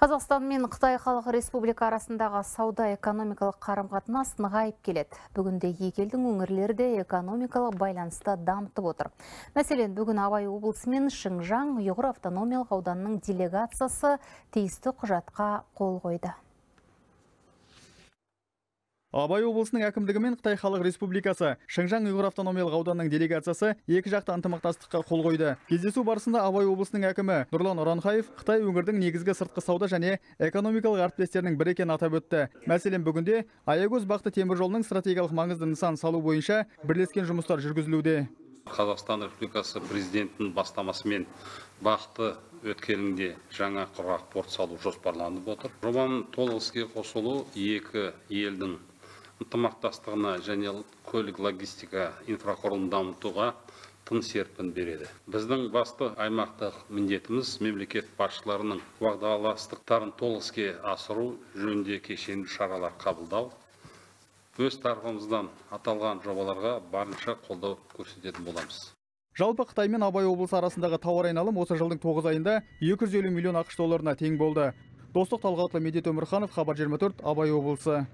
Қазақстан мен Қытай Халық Республика арасындағы сауда-экономикалық қарым-қатынас нығайып келеді. Бүгінде екі елдің өңірлері де экономикалық байланысты дамытып отыр. Мәселен, бүгін Абай облысы мен Шыңжаң Ұйғыр автономиялық ауданының делегациясы тиісті құжатқа қол қойды. Абай облысының әкімдігі мен Қытай Халық Республикасы Шыңжаң Ұйғыр автономиялық ауданының делегациясы екі жақты ынтымақтастыққа қол қойды. Кездесу барысында Абай облысының әкімі Нұрлан Ұранхаев Қытай өңірдің негізгі сыртқы сауда және экономикалық әріптестерінің бірі екенін атап өтті. Мәселен, бүгінде Аягөз Бақты темір жолының стратегиялық маңызды нысан салу бойынша бірлескен жұмыстар жүргізілуде. Қазақстан Республикасы президентінің бастамасымен Бақты өткелінде жаңа құрғақ порт салу жоспарланып отыр. Жобаның толық іске қосылу екі елдің ынтымақтастығына және көлік логистика инфрақұрылымын дамытуға тың серпін береді. Біздің басты аймақтық міндетіміз мемлекет басшыларының уағдаластықтарын толық іске асыру жөнінде кешенді шаралар қабылдау. Өз тарапымыздан аталған жобаларға барынша қолдау көрсететін боламыз. Жалпы Қытай мен Абай облысы арасындағы тауар айналым осы жылдың 9 айында 250 миллион ақш долларына тең болды. Достық Талғатұлы, Медет Өмірханов, Хабар 24, Абай облысы.